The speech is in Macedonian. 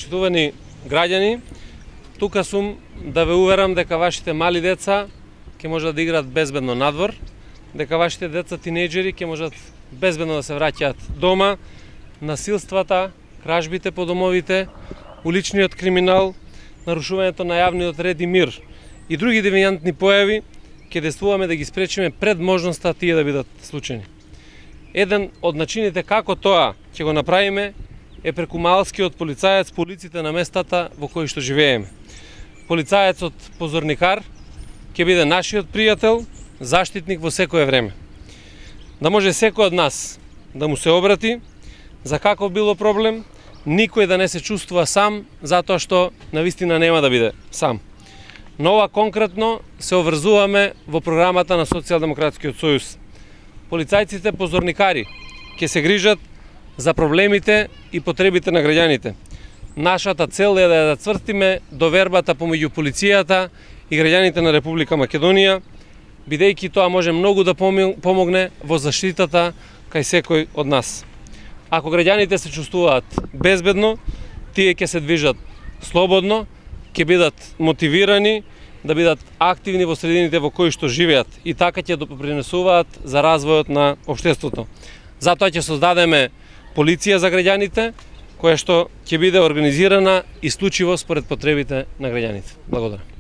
Почитувани граѓани, тука сум да ве уверам дека вашите мали деца ќе можат да играат безбедно надвор, дека вашите деца тинејџери ќе можат безбедно да се враќаат дома. Насилствата, кражбите по домовите, уличниот криминал, нарушувањето на јавниот ред и мир и други девијантни појави ќе действуваме да ги спречиме пред можноста тие да бидат случајни. Еден од начините како тоа ќе го направиме е преку малскиот полицаец по улиците на местата во кои што живееме. Полицаецот позорникар ќе биде нашиот пријател, заштитник во секое време. Да може секој од нас да му се обрати за каков било проблем, никој да не се чувствува сам, затоа што навистина нема да биде сам. Но ова конкретно се обврзуваме во програмата на Социјалдемократскиот сојуз. Полицајците позорникари ќе се грижат за проблемите и потребите на граѓаните. Нашата цел е да ја зацврстиме довербата помеѓу полицијата и граѓаните на Република Македонија, бидејќи тоа може многу да помогне во заштитата кај секој од нас. Ако граѓаните се чувствуваат безбедно, тие ќе се движат слободно, ќе бидат мотивирани да бидат активни во средините во кои што живеат и така ќе допринесуваат за развојот на општеството. Затоа ќе создадеме полиција за граѓаните, која што ќе биде организирана исклучиво според потребите на граѓаните. Благодарам.